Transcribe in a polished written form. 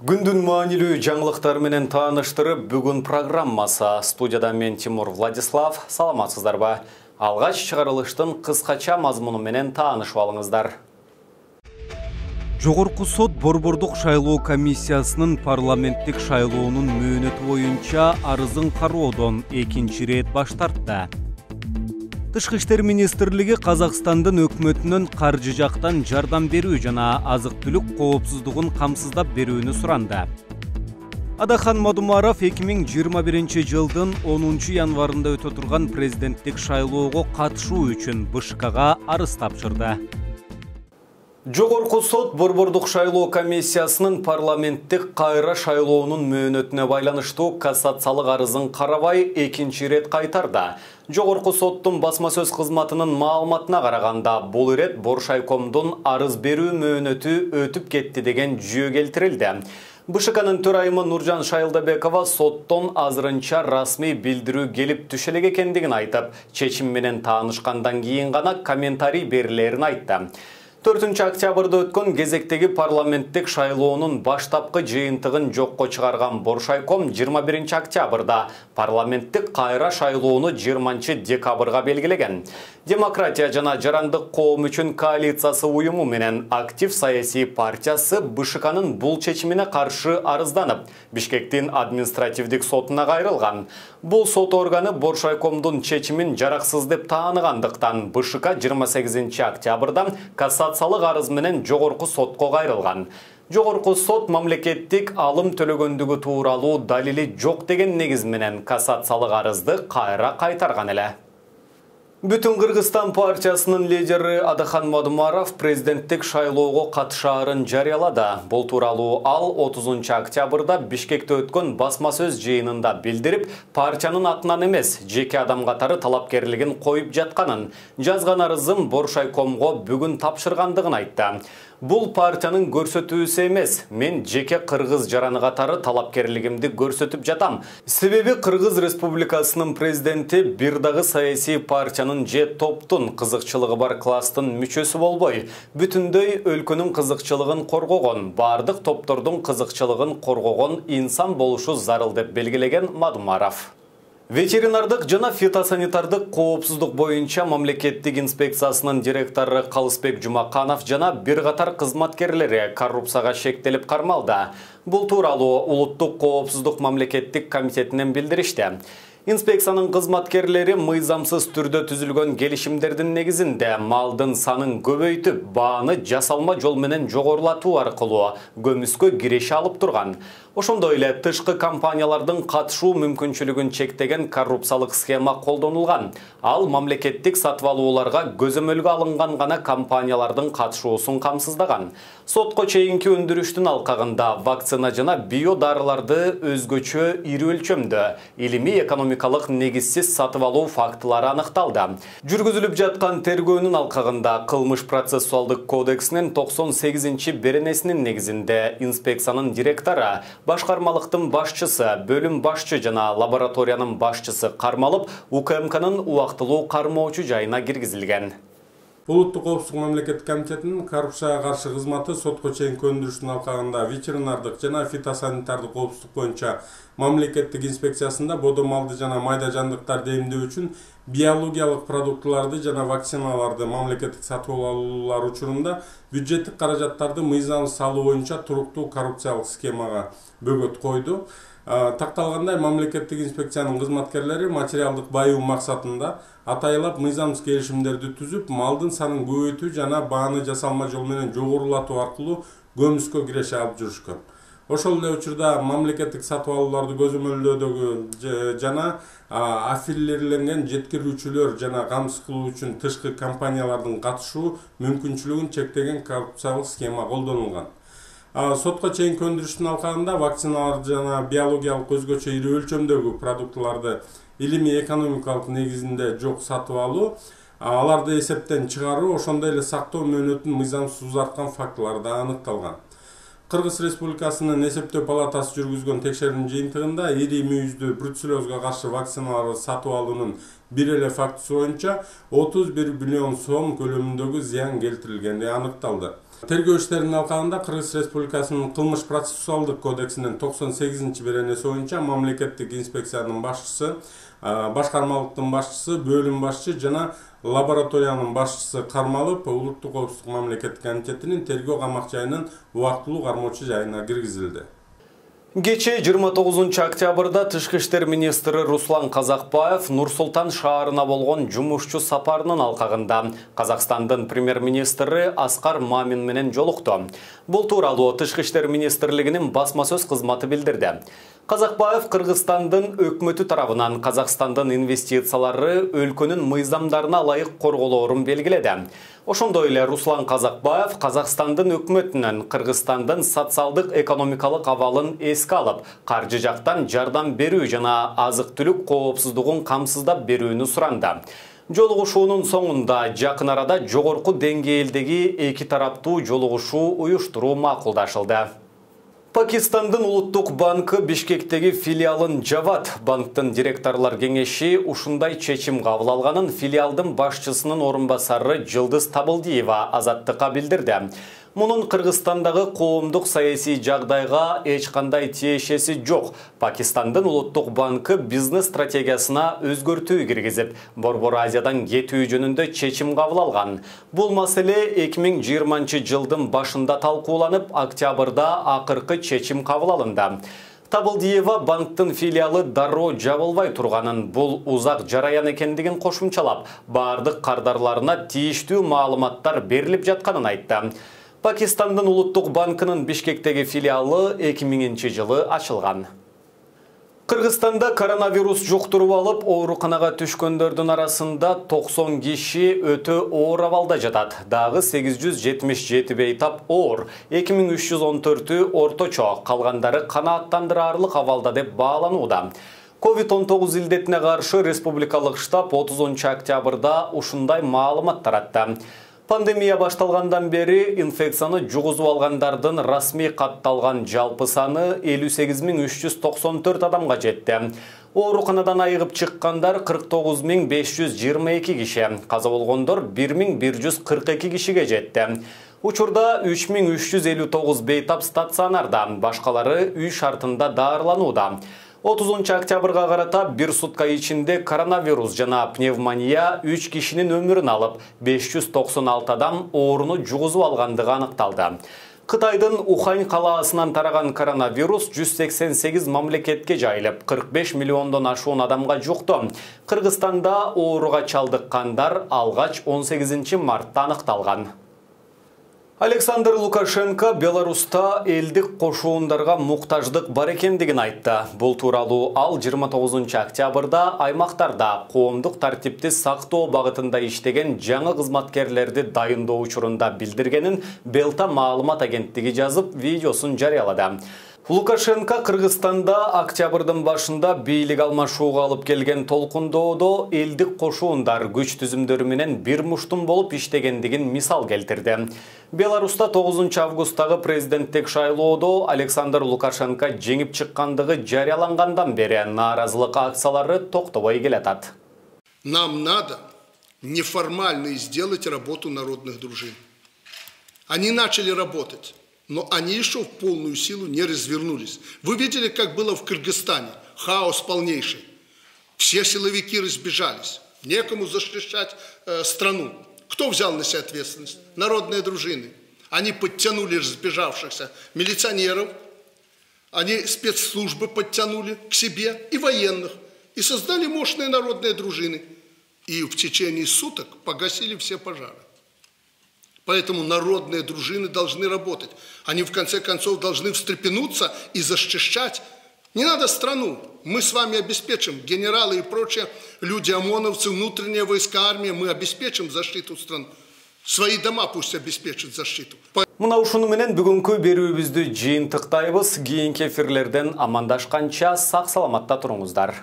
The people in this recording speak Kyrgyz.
Күндүн маанилүү жаңылыктар менен тааныштырып, бүгүн программасы. Студияда мен Тимур Владислав. Саламатсыздарбы? Алгач чыгарылыштын кыскача мазмуну менен таанышып алыңыздар. Жогорку сот Борбордук шайлоо комиссиясынын парламенттик шайлоонун мөөнөтү боюнча арызын кароодон экинчи ирет баш тартты. Тышкы иштер министрлиги Казакстандын өкмөтүнөн каржы жактан жардам берүү жана азык-түлүк коопсуздугун камсыздап берүүнү суранды. Адахан Мадумаров 2021 жылдын 10 январында өтө турган президенттик шайлоого катышуу үчүн БШКга арыз тапшырды. Жогорку сот Борбордук шайлоо комиссиясынын парламенттик кайра шайлоонун мөөнөтүнө байланыштуу кассациялык арызын карабай экинчи ирет кайтарды. Жогорку соттун басма сөз кызматынын маалыматына караганда, бул ирет Боршайкомдун арыз берүү мөөнөтү өтүп кетти деген жүйө келтирилди. БШКнын төрайымы Нуржан Шайылдабекова соттон азырынча расмий билдирүү келип түшө элек экендигин айтып, чечим менен таанышкандан кийин гана комментарий берилерин айтты. 4 октябрда өткөн кезектеги парламенттик шайлоонун баштапкы жыйынтыгын жокко чыгарган Боршайком 21 октябрда парламенттик кайра шайлоону 20 декабрга белгилеген. Демократия жана жарандык коом үчүн коалициясы уюму менен актив саясий партиясы БШКнын бул чечимине каршы арызданып, Бишкектин административдик сотуна кайрылган. Бул сот органы Боршайкомдун чечимин жараксыз деп тааныгандыктан БШК 28 октябрда кассациялык арыз менен жогорку сотко кайрылган. Жогорку сот мамлекеттик алым төлөгөндүгү тууралуу далили жок деген негиз менен кассациялык арызды кайра кайтарган эле. Бүтүн Кыргызстан партиясынын лидери Адахан Мадумаров президенттик шайлоого катышаарын жарыялады. Бул тууралуу ал 30 октябрда Бишкекте өткөн басма сөз жыйынында билдирип, партиянын атынан эмес, жеке адам катары талапкерлигин коюп жатканын, жазган арызын Боршайкомго бүгүн тапшыргандыгын айтты. Бул партиянын көрсөтүүсү эмес, мен жеке кыргыз жараны катары талапкерлигимди көрсөтүп жатам. Себеби Кыргыз Республикасынын президенти бир дагы саясий партиянын же топтун кызыкчылыгы бар класстын мүчөсү болбой, бүтүндөй өлкөнүн кызыкчылыгын коргогон, бардык топтордун кызыкчылыгын коргогон инсан болушу зарыл деп белгилеген Мадумаров. Ветеринардык жана фитосанитардык коопсуздук боюнча мамлекеттик инспекциясынын директору Калысбек Жумаканов жана бир катар кызматкерлери коррупцияга шектелип кармалды. Бул тууралуу Улуттук коопсуздук мамлекеттик комитетинен билдиришти. Инспекциянын кызматкерлери мыйзамсыз түрдө түзүлгөн келишимдердин негизинде малдын санын көбөйтүп, бааны жасалма жол менен жогорулатуу аркылуу көмүскө киреше алып турган. Ошондой эле тышкы компаниялардын катышуу мүмкүнчүлүгүн чектеген коррупциялык схема колдонулган. Ал мамлекеттик сатып алууларга көзөмөлгө алынган гана компаниялардын катышуусун камсыздаган. Сотко чейинки өндүрүштүн алкагында вакцина жана био дарыларды өзгөчө ири өлчөмдө илимий экономикалык негизсиз сатып алуу фактылары аныкталды. Жүргүзүлүп жаткан тергөөнүн алкагында Кылмыш процессуалдык кодексинин 98-беренесинин негизинде инспекциянын директору, башкармалыктын башчысы, бөлүм башчы жана лабораториянын башчысы кармалып, УКМКнын убактылуу кармоочу жайына киргизилген. Улуттук коопсуздук мамлекеттик комитетинин коррупцияга каршы кызматы сотко чейинки өндүрүштүн алкагында ветеринардык жана фитосанитардык коопсуздук боюнча мамлекеттик инспекциясында бодо малды жана майда жандыктарды эмдөө үчүн биологиялык продуктуларды жана вакциналарды мамлекеттик сатып алуулар учурунда бюджеттик каражаттарды мыйзамсыз салуу боюнча туруктуу коррупциялык схемага бөгөт койду. Такталгандай, мамлекеттик инспекциянын кызматкерлери материалдык байуу максатында атайлап мыйзамсыз келишимдерди түзүп, малдын санын көбөйтүү жана бааны жасалма жол менен жогорулатуу аркылуу көмүскө киреше алып жүрүшкөн. Ошол эле учурда мамлекеттик сатып алууларды көзөмөлдөөдөгү жана аффилирленген жеткирүүчүлөр жана камсыз кылуу үчүн тышкы компаниялардын катышуу мүмкүнчүлүгүн чектеген коррупциялык схема колдонулган. Сотко чейинки өндүрүштүн алкагында вакциналар жана биологиялык өзгөчө ири өлчөмдөгү продуктуларды илимий экономикалык негизинде жок сатып алуу, аларды эсептен чыгаруу, ошондой эле сактоо мөөнөтүн мыйзамсыз узарткан фактылар да аныкталган. Кыргыз Республикасынын эсептөө палатасы жүргүзгөн текшерүүнүн жыйынтыгында ири мүйүздүү бруцеллезга каршы вакциналарды сатып алуунун бир эле фактысы боюнча 31 миллион сом көлөмүндөгү зыян келтирилгени аныкталды. Тергөө иштеринин алкагында Кыргыз Республикасынын кылмыш процессуалдык кодексинин 98-беренеси боюнча мамлекеттик инспекциянын башчысы, башкармалыктын башчысы, бөлүм башчы жана лабораториянын башчысы кармалып, Улуттук коопсуздук мамлекеттик комитетинин тергөө камак жайынын убактылуу кармоочу жайына киргизилди. Кечээ 29 октябрда Тышкы иштер министри Руслан Казакбаев Нур-Султан шаарына болгон жумушчу сапарынын алкагында Казакстандын премьер-министри Аскар Мамин менен жолукту. Бул тууралуу Тышкы иштер министрлигинин басма сөз кызматы билдирди. Казакбаев Кыргызстандын өкмөтү тарабынан Казакстандын инвестициялары өлкөнүн мыйзамдарына ылайык корголоорун белгиледи. Ошондой эле Руслан Казакбаев Казакстандын өкмөтүнөн Кыргызстандын социалдык экономикалык абалын эске алып, каржы жактан жардам берүү жана азык-түлүк коопсуздугун камсыздап берүүнү суранды. Жолугушуунун соңунда жакын арада жогорку деңгээлдеги эки тараптуу жолугушуу уюштуруу макулдашылды. Пакистандын Улуттук банкы Бишкектеги филиалын жабат. Банктын директорлор кеңеши ушундай чечим кабыл алганын филиалдын башчысынын орун басары Жылдыз Табылдиева Азаттыкка билдирди. Мунун Кыргызстандагы коомдук саясий жагдайга эч кандай тиешеси жок. Пакистандын Улуттук банкы бизнес стратегиясына өзгөртүү киргизип, Борбор Азиядан кетүү жөнүндө чечим кабыл алган. Бул маселе 2020 жылдын башында талкууланып, октябрда акыркы чечим кабыл алынды. Табылдиева банктын филиалы дароо жабылбай турганын, бул узак жараян экендигин кошумчалап, бардык кардарларына тийиштүү маалыматтар берилип жатканын айтты. Пакистандын Улуттук банкынын Бишкектеги филиалы 2000 жылы ачылган. Кыргызстанда коронавирус жуктуруп алып, ооруканага түшкөндөрдүн арасында 90 киши өтө оор абалда жатат. Дагы 877 бейтап оор, 2314 орточо, калгандары канааттандырарлык абалда деп бааланууда. COVID-19 илдетине каршы республикалык штаб 30 октябрда ушундай маалымат таратты. Пандемия башталгандан бери инфекцияны жугузуп алгандардын расмий катталган жалпы саны 58394 адамга жетти. Ооруканадан айыгып чыккандар 49522 киши, каза болгондор 1142 кишиге жетти. Учурда 3359 бейтап стационарда, башкалары үй шартында даарыланууда. 30 октябрга карата бир сутка ичинде коронавирус жана пневмония 3 кишинин өмүрүн алып, 596 адам ооруну жугузуп алгандыгы аныкталды. Кытайдын Ухань калаасынан тараган коронавирус 188 мамлекетке жайылып, 45 миллиондон ашуун адамга жукту. Кыргызстанда ооруга чалдыккандар алгач 18 мартта аныкталган. Александр Лукашенко Беларуста элдик кошуундарга муктаждык бар экендигин айтты. Бул тууралуу ал 29 октябрда аймактарда коомдук тартипти сактоо багытында иштеген жаңы кызматкерлерди дайындоо учурунда билдиргенин Белта маалымат агенттиги жазып, видеосун жарыялады. Лукашенко Кыргызстанда октябрдын башында бийлик алмашууга алып келген толкундоодо элдик кошуундар күч түзүмдөрү менен бир муштум болуп иштегендигин мисал келтирди. Беларуста 9 августтагы президенттик шайлоодо Александр Лукашенко жеңип чыккандыгы жарыялангандан бери нааразылык акциялары токтобой келатат. Нам надо неформально сделать работу народных дружин. Они начали работать. Но они еще в полную силу не развернулись. Вы видели, как было в Кыргызстане? Хаос полнейший. Все силовики разбежались. Некому защищать страну. Кто взял на себя ответственность? Народные дружины. Они подтянули разбежавшихся милиционеров. Они спецслужбы подтянули к себе и военных. И создали мощные народные дружины. И в течение суток погасили все пожары. Поэтому народные дружины должны работать. Они в конце концов должны встрепенуться и защищать. Не надо страну. Мы с вами обеспечим, генералы и прочие люди, ОМОНовцы, внутренние войска, армия, мы обеспечим защиту страны. Свои дома пусть обеспечат защиту. Мына ушуну менен бүгүнкү берүүбүздү жыйынтыктайбыз. Кийинки эфирлерден амандашканча сак саламатта туруңуздар.